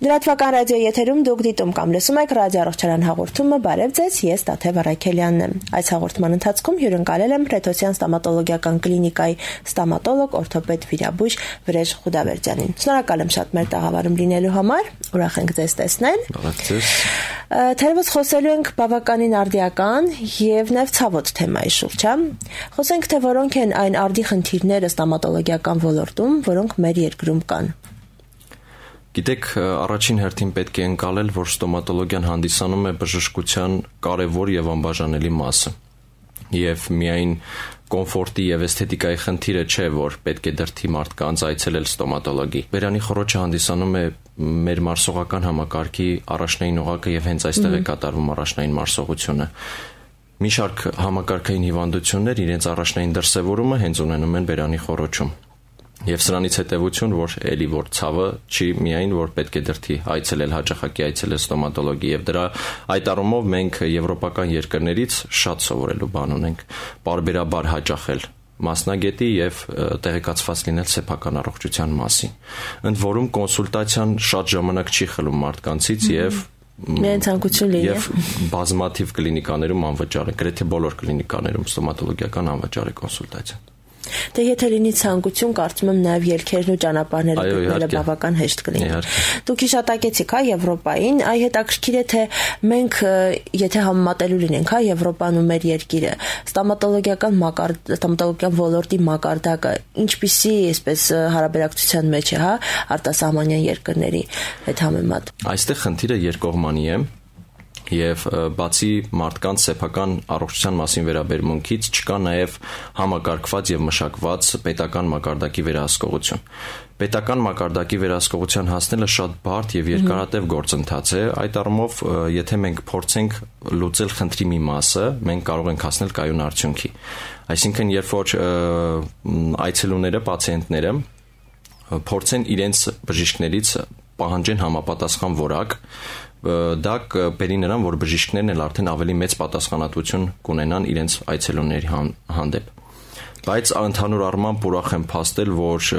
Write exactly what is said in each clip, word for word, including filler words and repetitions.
Լրատվական ռադիո եթերում դուք դիտում կամ լսում եք ռադիոառողջարան հաղորդումը, բարև ձեզ, ես Տաթև Արաքելյանն եմ։ Այս հաղորդման ընթացքում հյուրընկալել եմ Պետրոսյան ստոմատոլոգիական կլինիկայի ստոմատոլոգ, օրթոպեդ վիրաբույժ Վրեժ Ղուդավերդյանին։ Շնորհակալ եմ շատ մեր տաղավարում լինելու համար, ուրախ ենք ձեզ տեսնել։ Բարև ձեզ։ Թերևս խոսելու ենք բավականին արդիական եւ նաեւ ցավոտ թեմայի շուրջ, հա։ Խոսենք, թե որոնք են այն արդի խնդիրները ստոմատոլոգիական ոլորտում, որոնք մեր երկրում կան։ Գիտեք, առաջին հերթին պետք է ընկալել, որ ստոմատոլոգիան հանդիսանում է բժշկության կարևոր եւ անբաժանելի մասը։ Եվ միայն կոմֆորտի եւ էսթետիկայի խնդիրը չէ, որ պետք է դրդի մարդկանց այցելել ստոմատոլոգի։ Բերանի խոռոչը հանդիսանում է մեր մարսողական համակարգի առաջնային օղակը եւ հենց այստեղ է կատարվում առաջնային մարսողությունը։ Մի շարք համակարգային հիվանդություններ իրենց առաջնային դրսևորումը հենց ունենում են բերանի խոռոչում։ Եվ սրանից հետևություն, որ էլի որ ցավը չի միայն որ պետք է դրդի այցելել հաճախակի այցելել ստոմատոլոգի եւ դրա այդ առումով մենք եվրոպական երկրներից շատ սովորելու բան ունենք բարբերաբար հաճախել մասնագետի եւ տեղեկացված լինել սեփական առողջության մասին։ Ընդ որում կոնսուլտացիան շատ ժամանակ չի խլում մարդկանցից եւ Միայն ցանկություն լինի եւ բազմաթիվ կլինիկաներում անվճար է, գրեթե բոլոր կլինիկաներում ստոմատոլոգիական անվճար է կոնսուլտացիան։ Դե եթե լինի ցանկություն, կարծում եմ նաև ելքերն ու ճանապարհները գտնելը բավական հեշտ կլինի։ Դուք հիշատակեցիք, հա, Եվրոպային, այ հետաքրքիր է թե մենք եթե համեմատելու լինենք, հա, Եվրոպան ու մեր երկիրը, ստոմատոլոգիական մակարդ ստոմատոլոգիական ոլորտի մակարդակը ինչպիսի այսպես հարաբերակցության մեջ է, հա, արտասահմանյան երկրների հետ համեմատ։ Այստեղ խնդիրը երկկողմանի է։ Եվ բացի մարդկանց սեփական առողջության մասին վերաբերմունքից չկա նաև համակարգված եւ մշակված պետական մակարդակի վերահսկողություն։ Պետական մակարդակի վերահսկողության հասնելը շատ բարդ եւ երկարատև գործընթաց է։ Այդ առումով, եթե մենք փորձենք լուծել խնդրի մի մասը, մենք կարող ենք հասնել կայուն արդյունքի։ Այսինքն, երբ որ այցելուները, պացիենտները փորձեն իրենց բժիշկներից պահանջեն համապատասխան որակ, դա կբերի նրան, որ բժիշկներն էլ արդեն ավելի մեծ պատասխանատվություն կունենան իրենց այցելուների հանդեպ։ Բայց ընդհանուր առմամբ ուրախ եմ փաստել, որ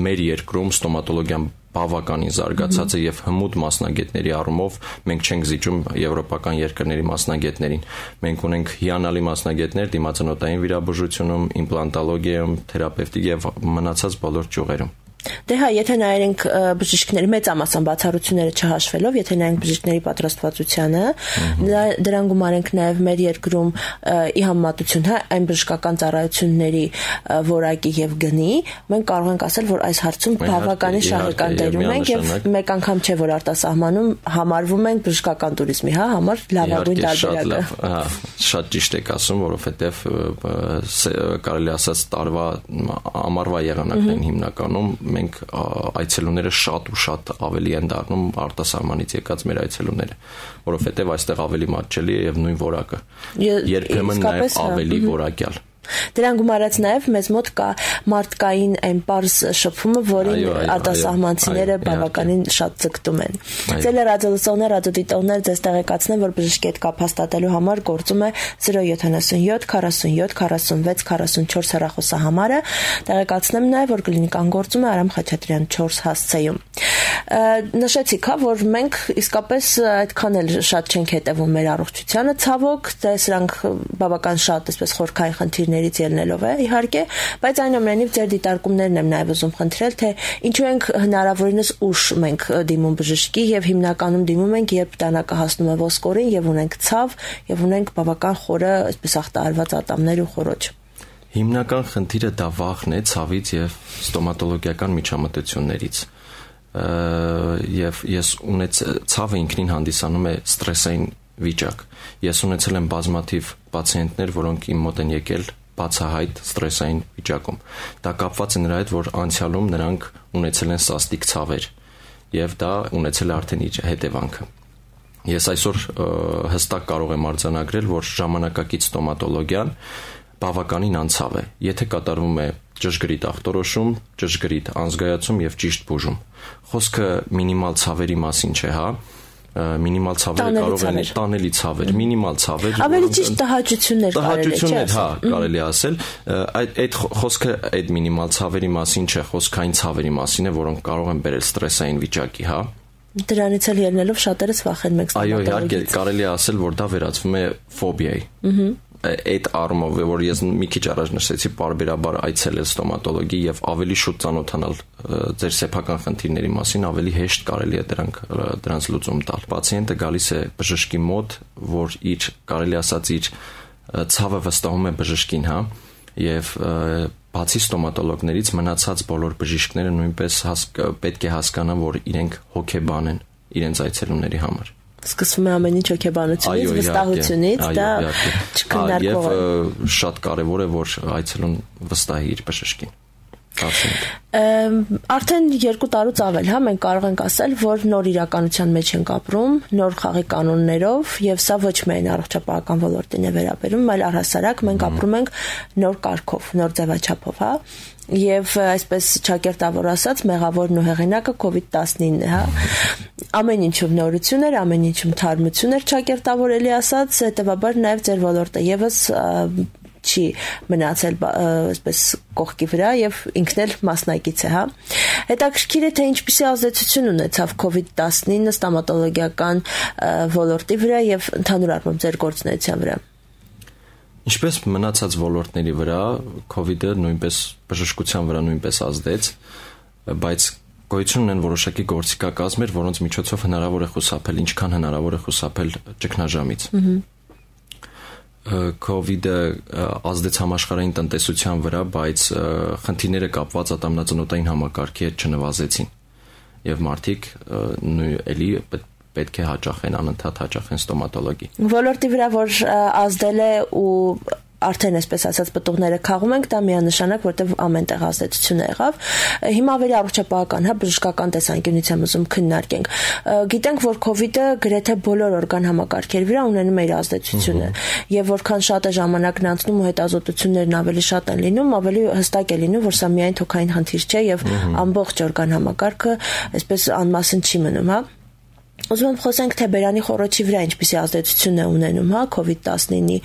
մեր երկրում ստոմատոլոգիան բավականին զարգացած է եւ հմուտ մասնագետների առումով մենք չենք զիջում եվրոպական երկրների մասնագետներին։ Մենք ունենք հիանալի մասնագետներ դիմացանոթային վիրաբուժությունում, իմպլանտոլոգիայում, թերապևտիկ եւ մնացած բոլոր ճյուղերում։ Դե հա, եթե նայենք բժիշկների մեծամասն բացառությունները չհաշվելով, եթե նայենք բժիշկների պատրաստվածությանը, դրան գումարենք նաև մեր երկրում ի համեմատություն, հա, այն բժշկական ծառայությունների որակի եւ գնի, մենք կարող ենք ասել, որ այս հարցում բավականին շահեկան դեր ունենք եւ մեկ անգամ չէ, որ արտասահմանում համարվում ենք բժշկական туриզմի, հա, համար լավագույն տարբերակը։ Հա, շատ ճիշտ եք ասում, որովհետեւ կարելի ասած տարվա ամառվա եղանակն հիմնականում մենք այցելուները շատ ու շատ ավելի են դառնում արտասահմանից եկած մեր այցելուները, որովհետև այստեղ ավելի մատչելի է եւ նույն որակը։ Երբեմն նաեւ ավելի որակյալ։ Դրան գումարած նաև մեզ մոտ կա մարդկային այն պարզ շփումը, որին արտասահմանցիները բավականին շատ ձգտում են։ Ձեր ռադիոլսողներ, ռադիոդիտողներ ձեզ տեղեկացնեմ, որ բժշկի հետ կապ հաստատելու համար գործում է zero seven seven forty-seven forty-six forty-four հեռախոսահամարը։ Տեղեկացնեմ նաև, որ կլինիկան գործում է Արամ Խաչատրյան four հասցեում։ Նշեցիք, հա, որ մենք իսկապես այդքան էլ շատ չենք հետևում մեր առողջությանը, ցավոք, դե սրանք բավական շատ այսպես խորքային խնդիրներից ելնելով է, իհարկե, բայց այնուամենայնիվ ձեր դիտարկումներն եմ նաև ուզում խնդրել, թե ինչու ենք հնարավորինս ուշ մենք դիմում բժշկի եւ հիմնականում դիմում ենք, երբ տանակը հասնում է ոսկորին եւ ունենք ցավ եւ ունենք բավական խորը այսպես ախտահարված ատամներ ու խոռոչ։ Հիմնական խնդիրը դա վախն է ցավից եւ ստոմատոլոգիական միջամտություններից։ Եվ ես ունեց ցավը ինքնին հանդիսանում է ստրեսային վիճակ։ Ես ունեցել եմ բազմաթիվ պացիենտներ, որոնք իմ մոտ են եկել բացահայտ ստրեսային վիճակում։ Դա կապված է նրա հետ, որ անցյալում նրանք ունեցել են սաստիկ ցավեր եւ դա ունեցել է արդեն իր հետևանքը։ Ես այսօր հստակ կարող եմ արձանագրել, որ ժամանակակից ստոմատոլոգիան բավականին անցավ է, եթե կատարվում է ճշգրիտ ախտորոշում, ճշգրիտ անզգայացում եւ ճիշտ բուժում։ Խոսքը մինիմալ ցավերի մասին չէ, հա, մինիմալ ցավերը կարող են տանելի ցավեր, մինիմալ ցավեր, ավելի ճիշտ տհաճություններ կարելի է, տհաճություններ, հա, կարելի է ասել, այդ այդ խոսքը այդ մինիմալ ցավերի մասին չէ, խոսքային ցավերի մասին է, որոնք կարող են բերել ստրեսային վիճակի, հա։ Դրանից էլ ելնելով շատերս վախենում ենք ստոմատոլոգից։ Այո, իհարկե, կարելի է ասել, որ դա վերածվում է ֆոբիայի։ Ահա այդ առումով, որ ես մի քիչ առաջ նշեցի, պարբերաբար այցելել ստոմատոլոգի եւ ավելի շուտ ծանոթանալ ձեր սեփական խնդիրների մասին, ավելի հեշտ կարելի է դրանք դրանց լուծում տալ։ Պացիենտը գալիս է բժշկի մոտ, որ իր կարելի ասած իր ցավը վստահում է բժշկին, հա, եւ բացի ստոմատոլոգներից մնացած բոլոր բժիշկները նույնպես պետք է հասկանան, որ իրենք հոգեբան են իրենց այցելումների համար։ Սկսվում է ամեն ինչ հոգեբանությունից, վստահությունից, դա չքննարկվող է։ Եվ շատ կարևոր է, որ այցելուն վստահի իր բժշկին։ Արդեն երկու տարուց ավել, հա, մենք կարող ենք ասել, որ նոր իրականության մեջ ենք ապրում, նոր խաղի կանոններով, եւ սա ոչ միայն առողջապահական ոլորտին է վերաբերում, այլ առհասարակ մենք ապրում ենք նոր կարգով, նոր ձևաչափով, հա։ Եվ այսպես ճակերտավոր ասած, մեղավորն ու հեղինակը կովիդ տասնինն է, հա։ Ամեն ինչում նորություն էր, ամեն ինչում թարմություն էր ճակերտավորելի ասած, հետեւաբար նաեւ ձեր ոլորտը եւս չի մնացել այսպես կողքի վրա եւ ինքն էլ մասնակից է, հա։ Հետաքրքիր է, թե ինչպիսի ազդեցություն ունեցավ կովիդ տասնինը ստոմատոլոգիական ոլորտի վրա եւ ընդհանուր առմամբ ձեր գործունեության վրա։ Ինչպես մնացած ոլորտների վրա, COVID-ը նույնպես բժշկության վրա նույնպես ազդեց, բայց գոյություն ունեն որոշակի գործիքակազմեր, որոնց միջոցով հնարավոր է խուսափել, ինչքան հնարավոր է խուսափել ճգնաժամից։ COVID-ը ազդեց համաշխարհային տնտեսության վրա, բայց խնդիրները կապված ատամնածնոտային համակարգի հետ չնվազեցին։ Եվ մարդիկ էլի պետք է հաճախեն, անընդհատ հաճախեն ստոմատոլոգի։ Ոլորտի վրա որ ազդել է ու արդեն այսպես ասած պտուղները քաղում ենք, դա միանշանակ, որտեղ ամենտեղ ազդեցություն եղավ։ Հիմա ավելի առողջապահական, հա, բժշկական տեսանկյունից եմ ուզում քննարկենք։ Գիտենք, որ COVID-ը գրեթե բոլոր օրգան համակարգերի վրա ունենում է իր ազդեցությունը, եւ որքան շատ է ժամանակն անցնում ու հետազոտություններն ավելի շատ են լինում, ավելի հստակ է լինում, որ սա միայն թոքային խնդիր չէ եւ ամբողջ օրգան համակարգը այսպես անմասն չի մնում, հա։ Ուզում եմ խոսենք, թե բերանի խոռոչի վրա ինչպիսի ազդեցություն է ունենում, հա, կովիդ տասնինի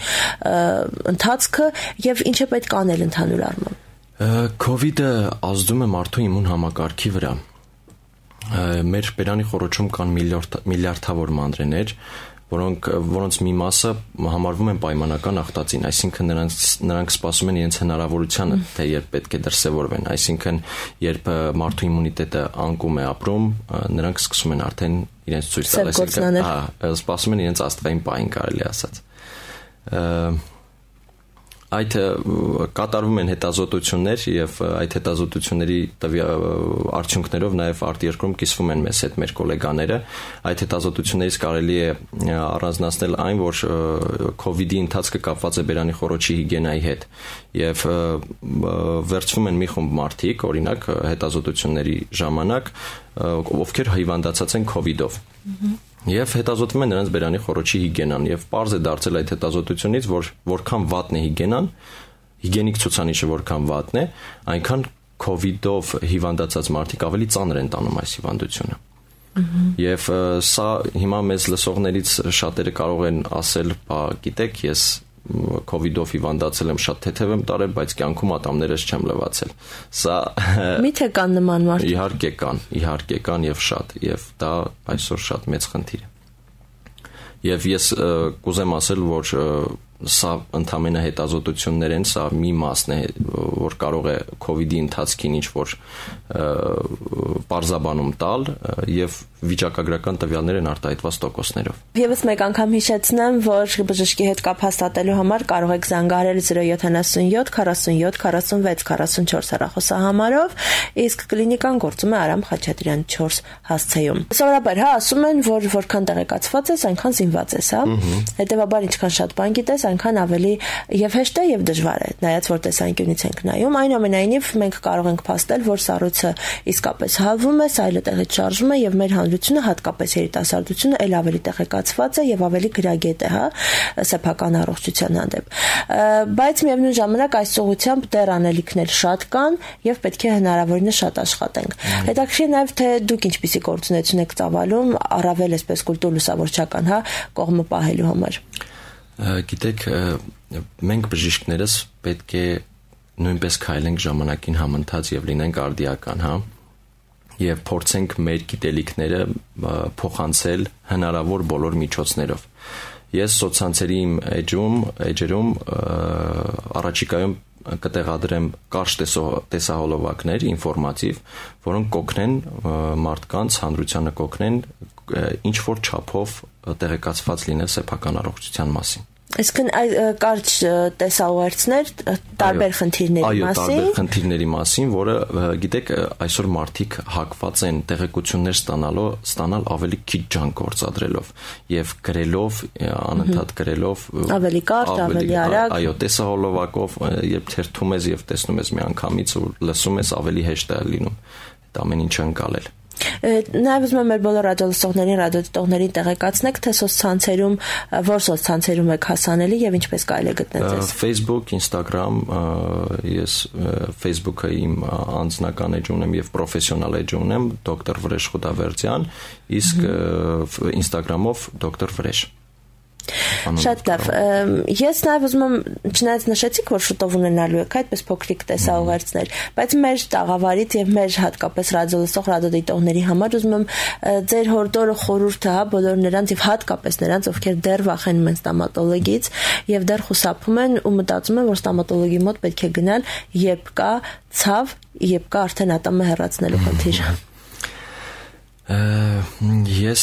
ընթացքը եւ ինչ է պետք անել ընդհանուր առմամբ։ COVID-ը ազդում է մարդու իմուն համակարգի վրա։ Մեր բերանի խոռոչում կան միլիարդավոր մանրեներ, որոնք որոնց մի մասը համարվում են պայմանական ախտածին, այսինքն նրանք նրանք սպասում են իրենց հնարավորությանը, թե երբ պետք է դրսևորվեն, այսինքն երբ մարդու իմունիտետը անկում է ապրում, նրանք սկսում են արդեն իրենց ցույց տալ, այսինքն, հա, սպասում են իրենց աստղային պահին, կարելի ասած։ Այդ կատարվում են հետազոտություններ եւ այդ հետազոտությունների արդյունքներով նաեւ արտերկրում կիսվում են մեզ հետ մեր գոլեգաները։ Այդ հետազոտություններից կարելի է առանձնացնել այն, որ COVID-ի ընթացքը կապված է բերանի խոռոչի հիգիենայի հետ եւ վերցվում են մի խումբ մարդիկ, օրինակ հետազոտությունների ժամանակ, ովքեր հիվանդացած են COVID-ով։ Եվ հետազոտվում է նրանց բերանի խոռոչի հիգիենան եւ պարզ է դարձել այդ հետազոտությունից, որ որքան վատն է հիգիենան, հիգիենիկ ցուցանիշը որքան վատն է, այնքան COVID-ով հիվանդացած մարդիկ ավելի ծանր են տանում այս հիվանդությունը։ Եվ սա հիմա մեզ լսողներից շատերը կարող են ասել, բա գիտեք, ես COVID-ով հիվանդացել եմ, շատ թեթև եմ տարել, բայց կյանքում ատամներս չեմ լվացել։ Սա Միթե կան նման մարդիկ։ Իհարկե կան, իհարկե կան եւ շատ, եւ դա այսօր շատ մեծ խնդիր է։ Եվ ես կուզեմ ասել, որ սա ընդամենը հետազոտություններ են, սա մի մասն է, որ կարող է COVID-ի ընթացքին ինչ որ պարզաբանում տալ եւ վիճակագրական տվյալներ են արտահայտված տոկոսներով։ Եվս մեկ անգամ հիշեցնեմ, որ բժշկի հետ կապ հաստատելու համար կարող եք զանգահարել zero seven seven forty-seven forty-six forty-four հեռախոսահամարով, իսկ կլինիկան գործում է Արամ Խաչատրյան four հասցեում։ Սովորաբար, հա, ասում են, որ որքան տեղեկացված ես, այնքան զինված ես, հա։ Հետևաբար ինչքան շատ բան գիտես, այնքան ավելի եւ հեշտ է եւ դժվար է, նայած որ տեսանկյունից ենք նայում, այնուամենայնիվ մենք կարող ենք փաստել, որ սառույցը իսկապես հավվում է, սայլը տեղից շարժվում է եւ մեր հանրությունը, հատկապես երիտասարդությունը, ել ավելի տեղեկացված է եւ ավելի գրագետ է, հա, սեփական առողջության հանդեպ։ Բայց միևնույն ժամանակ այս ուղղությամբ դեռ անելիքներ շատ կան եւ պետք է հնարավորինս շատ աշխատենք։ Հետաքրքիր նաեւ թե դուք ինչպիսի գործունեություն եք ծավալում առավել այսպես կուլտուր լուսավորչական, հա, կողմը պահելու համար։ Գիտեք, մենք բժիշկներս պետք է նույնպես քայլենք ժամանակին համընթաց եւ լինենք արդիական, հա, եւ փորձենք մեր գիտելիքները փոխանցել հնարավոր բոլոր միջոցներով։ Ես սոցցանցերի իմ էջում, էջերում առաջիկայում կտեղադրեմ կարճ տեսահոլովակներ, ինֆորմատիվ, որոնք կօգնեն մարդկանց, հանրությանը կօգնեն ինչ որ չափով տեղեկացված լինել սեփական առողջության մասին։ Այսինքն կարճ տեսաուղերձներ տարբեր խնդիրների մասին։ Այո, տարբեր խնդիրների մասին, որը գիտեք, այսօր մարդիկ հակված են տեղեկություններ ստանալու, ստանալ ավելի քիչ ջանք գործադրելով եւ գրելով, անընդհատ գրելով, ավելի կարճ, ավելի արագ։ Այո, տեսահոլովակով, երբ թերթում ես եւ տեսնում ես միանգամից ու լսում ես, ավելի հեշտ է լինում այդ ամեն ինչը անցալել։ Նաև ուզում եմ մեր բոլոր ռադիոլսողներին, ռադիոդիտողներին տեղեկացնեք, թե սոցցանցերում, որ սոցցանցերում եք հասանելի եւ ինչպես կարելի է գտնել ձեզ։ Facebook, Instagram, ես Facebook-ը իմ անձնական էջ ունեմ եւ պրոֆեսիոնալ էջ ունեմ, դոկտոր Վրեժ Խուդավերդյան, իսկ Instagram-ով դոկտոր Վրեժ։ Շատ լավ։ Ես նաև ուզում եմ, չնայած նշեցիք, որ շուտով ունենալու եք այդպես փոքրիկ տեսաուղերձներ, բայց մեր տաղավարից եւ մեր հատկապես ռադիոլսող ռադիոդիտողների համար ուզում եմ ձեր հորդորը խորհուրդը, հա, բոլոր նրանց եւ հատկապես նրանց, ովքեր դեռ վախենում են ստոմատոլոգից եւ դեռ խուսափում են ու մտածում են, որ ստոմատոլոգի մոտ պետք է գնալ, երբ կա ցավ, երբ կա արդեն ատամը հեռացնելու խնդիր։ Ես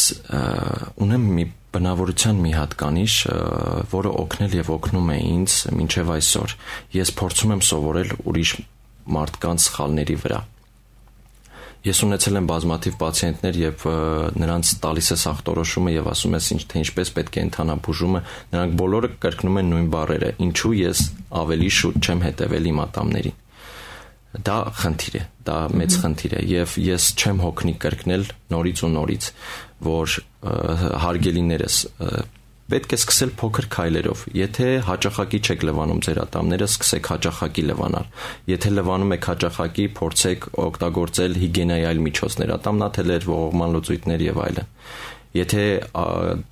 ունեմ մի բնավորության մի հատկանիշ, որը օգնել եւ օգնում է ինձ մինչեւ այսօր։ Ես փորձում եմ սովորել ուրիշ մարդկանց սխալների վրա։ Ես ունեցել եմ բազմաթիվ պացիենտներ եւ նրանց տալիս ես ախտորոշումը եւ ասում ես ինչ թե ինչպես պետք է ընթանա բուժումը, նրանք բոլորը կրկնում են նույն բառերը. ինչու ես ավելի շուտ չեմ հետեւել իմ ատամներին։ Դա խնդիր է, դա մեծ խնդիր է եւ ես չեմ հոգնի կրկնել նորից ու նորից, որ հարգելիներս պետք է սկսել փոքր քայլերով։ Եթե հաճախակի չեք լվանում ձեր ատամները, սկսեք հաճախակի լվանալ։ Եթե լվանում եք հաճախակի, փորձեք օգտագործել հիգիենայի այլ միջոցներ, ատամնաթելեր, ողողման լուծույթներ եւ այլն։ Եթե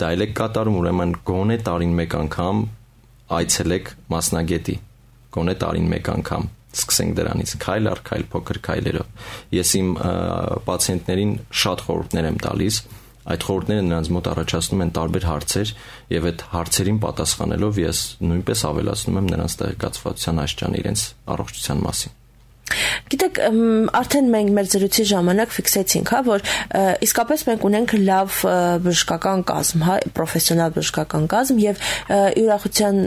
դա եք կատարում, ուրեմն գոնե տարին մեկ անգամ այցելեք մասնագետի, գոնե տարին մեկ անգամ սկսենք դրանից քայլ առ քայլ փոքր քայլերով։ Ես իմ պացիենտներին շատ խորհուրդներ եմ տալիս, այդ խորհուրդները նրանց մոտ առաջացնում են տարբեր հարցեր եւ այդ հարցերին պատասխանելով ես նույնպես ավելացնում եմ նրանց տեղեկացվածության աստիճանը իրենց առողջության մասին։ Գիտեք, արդեն մենք մեր զրույցի ժամանակ ֆիքսեցինք, հա, որ իսկապես մենք ունենք լավ բժշկական կազմ, հա, պրոֆեսիոնալ բժշկական կազմ եւ ի ուրախության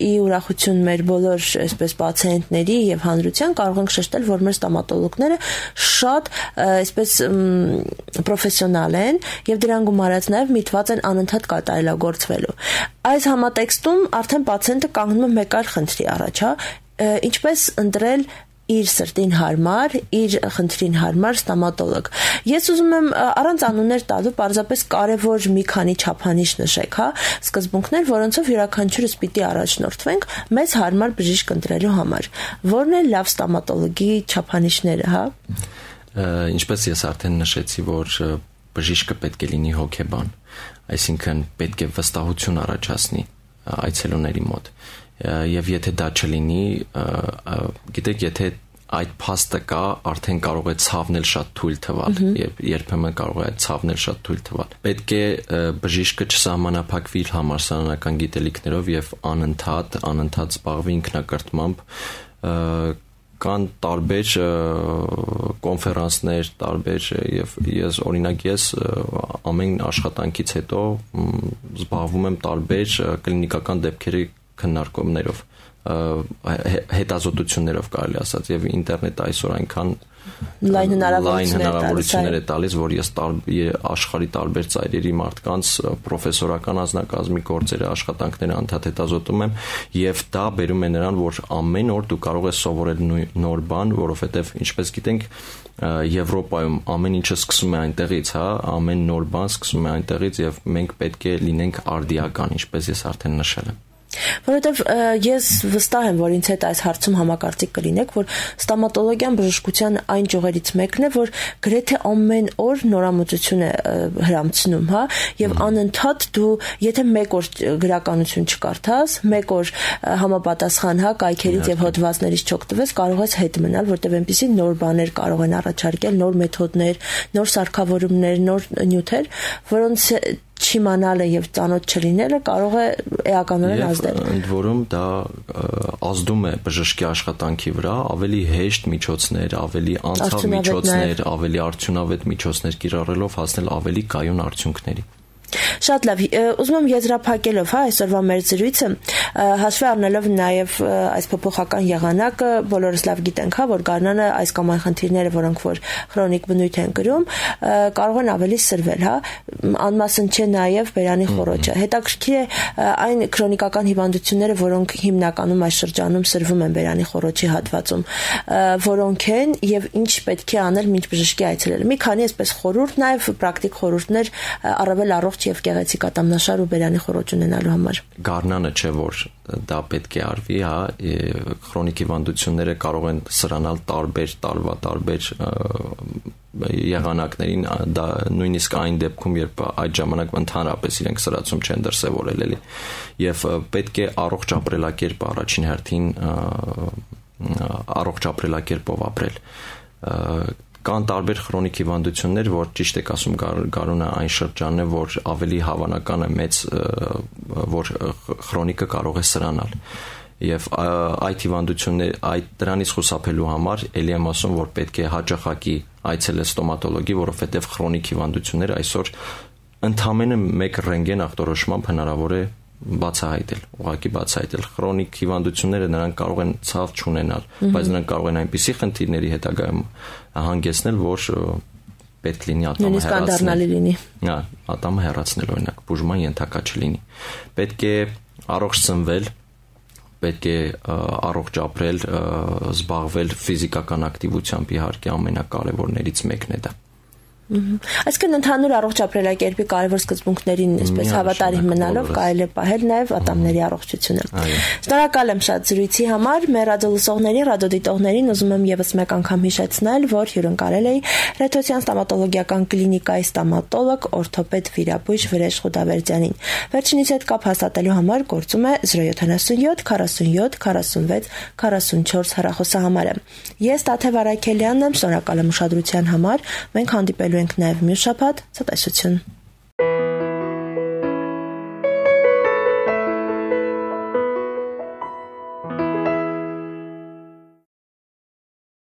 ի ուրախություն մեր բոլոր այսպես պացիենտների եւ հանրության կարող ենք շեշտել, որ մեր ստոմատոլոգները շատ այսպես պրոֆեսիոնալ են եւ դրան գումարած նաեւ միտված են անընդհատ կատարելագործվելու։ Այս համատեքստում արդեն պացիենտը կանգնում է մեկ այլ խնդրի առաջ, հա, ինչպես ընտրել իր սրտին հարմար, իր խնդրին հարմար ստոմատոլոգ։ Ես ուզում եմ առանց անուններ տալու պարզապես կարևոր մի քանի չափանիշ նշեք, հա, սկզբունքներ, որոնցով յուրաքանչյուրս պիտի առաջնորդվենք մեզ հարմար բժիշկ ընտրելու համար։ Որն է լավ ստոմատոլոգի չափանիշները, հա։ Ինչպես ես արդեն նշեցի, որ բժիշկը պետք է լինի հոգեբան, այսինքն պետք է վստահություն առաջացնի այցելուների մոտ։ Եվ եթե դա չլինի, գիտեք, եթե այդ փաստը կա, արդեն կարող է ցավնել շատ թույլ թվալ, եւ երբեմն կարող է ցավնել շատ թույլ թվալ։ Պետք է բժիշկը չսահմանափակվի իր համալսարանական գիտելիքներով եւ անընդհատ, անընդհատ զբաղվի ինքնակրթմամբ, կան տարբեր կոնֆերանսներ, տարբեր եւ ես օրինակ ես ամեն աշխատանքից հետո զբաղվում եմ տարբեր կլինիկական դեպքերի քննարկումներով, հետազոտություններով կարելի ասած եւ ինտերնետը այսօր այնքան լայն հնարավորություններ է տալիս, որ ես աշխարհի տարբեր ծայրերի մարդկանց պրոֆեսորական անձնակազմի գործերը, աշխատանքները անդադ հետազոտում եմ եւ դա բերում է նրան, որ ամեն օր դու կարող ես սովորել նոր բան, որովհետեւ ինչպես գիտենք Եվրոպայում ամեն ինչը սկսում է այնտեղից, հա, ամեն նոր բան սկսում է այնտեղից եւ մենք պետք է լինենք արդիական, ինչպես ես արդեն նշել եմ։ Որովհետև ես վստահ եմ, որ ինձ հետ այս հարցում համակարծիք կլինեք, որ ստոմատոլոգիան բժշկության այն ճյուղերից մեկն է, որ գրեթե ամեն օր նորամուծություն է հրամցնում, հա, եւ անընդհատ դու, եթե մեկ օր գրականություն չկարդաս, մեկ օր համապատասխան, հա, կայքերից եւ հոդվածներից չօգտվես, կարող ես հետ մնալ, որտեղ այնպիսի նոր բաներ կարող են առաջարկել, նոր մեթոդներ, նոր սարքավորումներ, նոր նյութեր, որոնց չիմանալը եւ ծանոթ չլինելը կարող է էականորեն ազդել։ Ընդ որում դա ազդում է բժշկի աշխատանքի վրա, ավելի հեշտ միջոցներ, ավելի անցավ միջոցներ, ավելի արդյունավետ միջոցներ կիրառելով հասնել ավելի կայուն արդյունքների։ Շատ լավ, ուզում եմ եզրափակելով, հա, այսօրվա մեր զրույցը, հաշվի առնելով նաև այս փոփոխական եղանակը, բոլորս լավ գիտենք, հա, որ գարնանը այս կամ այն խնդիրները, որոնք որ քրոնիկ բնույթ են կրում, կարող են ավելի սրվել, հա, անմասն չէ նաև բերանի խոռոչը։ Հետաքրքիր է այն քրոնիկական հիվանդությունները, որոնք հիմնականում այս շրջանում սրվում են բերանի խոռոչի հատվածում, որոնք են եւ ինչ պետք է անել մինչ բժշկի այցելել։ Մի քանի այսպես խորհուրդ, նաև պրակտիկ խորհուրդներ առավել առողջ եւ գեղեցիկ ատամնաշար ու բերանի խոռոչ ունենալու համար։ Գարնանը չէ որ դա պետք է արվի, հա, քրոնիկ հիվանդությունները կարող են սրանալ տարբեր տարվա տարբեր եղանակներին, դա նույնիսկ այն դեպքում, երբ այդ ժամանակ ընդհանրապես իրենք սրացում չեն դրսևորել էլի, եւ պետք է առողջ ապրելակերպ առաջին հերթին առողջ ապրելակերպով ապրել։ Կան տարբեր քրոնիկ հիվանդություններ, որ ճիշտ եք ասում, գարունը այն շրջանն է, որ ավելի հավանական է մեծ, որ քրոնիկը կարող է սրանալ։ Եվ այդ հիվանդություններ, այդ դրանից խուսափելու համար ելի եմ ասում, որ պետք է հաճախակի այցելել ստոմատոլոգի, որովհետև քրոնիկ հիվանդությունները այսօր ընդամենը մեկ ռենտգեն ախտորոշմամբ հնարավոր է բացահայտել, ուղղակի բացահայտել։ Քրոնիկ հիվանդությունները նրանք կարող են ցավ չունենալ, բայց նրանք կարող են այնպիսի խնդիրների հետագայում հանգեցնել, որ պետք լինի ատամը հեռացնել։ Հա, ատամը հեռացնել, օրինակ, բուժման ենթակա չլինի։ Պետք է առողջ սնվել, պետք է առողջ ապրել, զբաղվել ֆիզիկական ակտիվությամբ, իհարկե ամենակարևորներից մեկն է դա։ Այսինքն ընդհանուր առողջ ապրելակերպի կարևոր սկզբունքներին այսպես հավատարիմ մնալով կարելի է պահել նաև ատամների առողջությունը։ Շնորհակալ եմ շատ զրույցի համար։ Մեր ռադիոլսողներին, ռադիոդիտողներին ուզում եմ եւս մեկ անգամ հիշեցնել, որ հյուրընկալել էի Ռեթոսյան ստոմատոլոգիական կլինիկայի ստոմատոլոգ, օրթոպեդ վիրաբույժ Վրեժ Խուդավերդյանին։ Վերջինիս հետ կապ հաստատելու համար գործում է զրո յոթանասունյոթ քառասունյոթ քառասունվեց քառասունչորս հեռախոսահամարը։ Ես Տաթև Արաքելյանն եմ, շնորհակալ եմ ուշադրության համար։ Մենք հանդիպելու ենք նաև մյուս շաբաթ, ցտեսություն։